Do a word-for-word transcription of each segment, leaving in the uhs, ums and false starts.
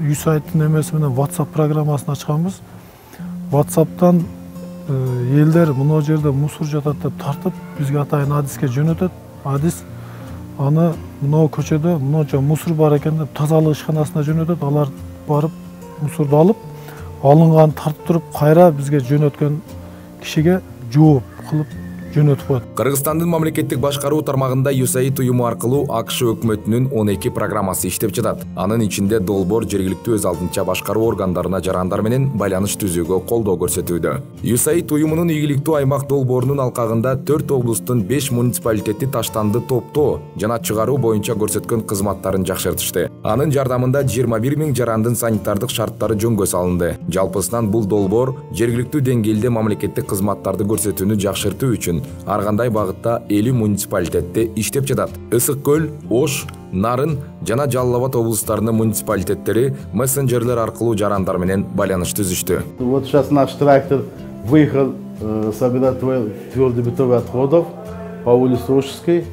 үй сайттын эмеси менен WhatsApp программасын ачканбыз. WhatsApp'тан элдер мына жерде мусор жатат деп тартып, бизге атайын адиске жөнөтөт. Адис аны мына көчөдө мынча мусор бар экен деп тазалык ишканасына жөнөтөт. Алар барып мусорду алып, алынган тартып туруп кайра бизге жөнөткөн кишиге жооп кылып жөнөтүп коет. Кыргызстандын мамлекеттик башкаруу тармагында ю эс эй ай уюму аркылуу АКШ өкмөтүнүн он эки программасы иштеп жатат. Анын ичинде долбоор жергиликтүү өз алдынча башкаруу органдарына жарандар менен байланыш түзүүгө колдоо көрсөтүүдө. ю эс эй ай уюмунун ийгиликтүү аймак долбоорунун алкагында төрт облустун беш муниципалитети таштанды топтоо жана чыгаруу боюнча көрсөткөн кызматтарын жакшыртышты. Анын жардамында жыйырма бир миң жарандын санитардык шарттары жөнгө салынды. Жалпысынан бул долбоор жергиликтүү деңгээлде мамлекеттик кызматтарды көрсөтүүнү жакшыртуу үчүн ар кандай багытта элүү муниципалитетте иштеп жатат. Ысык көл, Ош, Нарын жана Жалал Абад облустарынын муниципалитеттери мессенджерлер аркылуу жарандар менен байланыш түзүштү. Вот сейчас наш трактор выехал э, собирать твердобитовых отходов по улице Ошской,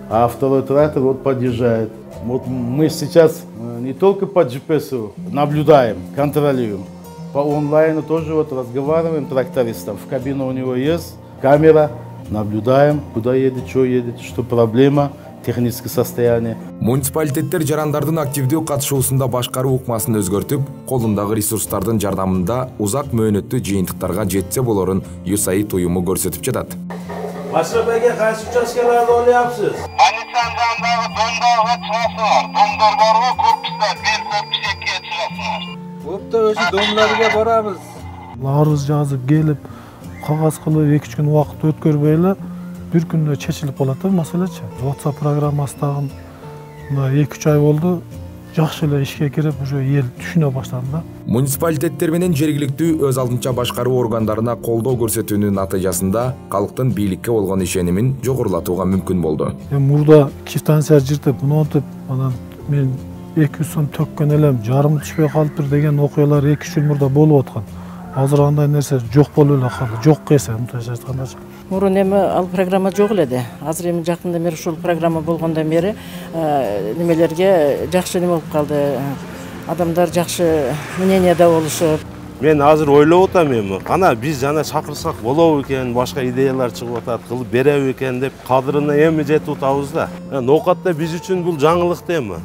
а второй трактор вот подъезжает. Вот мы сейчас не только по джи пи эс наблюдаем, контролируем, по онлайну тоже вот разговариваем трактористом. В кабине у него есть камера, наблюдаем, куда едет, что едет, что проблема, техническое состояние. Муниципалитеттер жарандардын активдүү катышуусунда башкаруу укмасын өзгөртүп, колундагы ресурстардын жардамында узак мөөнөттүү жыйынтыктарга жетсе болорун ю эс эй ай уюму көрсөтүп жатат. Машрап эге кайсы участкаларды ойлояпсыз? Полициянын жанындагы домдорго чыгасыңар. Домдор барбы, корпуста бир корпус экиге чыгасыңар. Бопта ошо домдорго барабыз. Арыз жазып келип, кагаз кылып эки үч күн убакыт өткөрбөй эле бир күндө чечилип калат да маселечи. WhatsApp программасы дагы мына эки үч ай болду. Жакшы эле ишке кирип, уже эл түшүнө баштады да. Муниципалитеттер менен жергиликтүү өз алдынча башкаруу органдарына колдоо көрсөтүүнүн натыйжасында калктын бийликке болгон ишенимин жогорулатууга мүмкүн болду. Мурда квитанция жыртып, монтип, анан мен эки жүз сом төккөн элем, жарым түшпөй калыптыр деген окуялар эки үч жыл мурда болуп аткан. Азыр андай нерсе жок болуп эле калды. Жок эсе, мынтайча айтканда. Мурун эми ал программа жок эле да. Азыр эми жакында бери ушул программа болгондон бери немелерге жакшы неме болуп калды. Адамдар жакшы мненияда болушуп. Мен азыр ойлоп атам эми. Ана биз жана чакырсак болобу экен, башка идеялар чыгып атат, кылып береби экен деп кадырына эми жетип атабыз да. Ноокатта биз үчүн бул жаңылык да эми.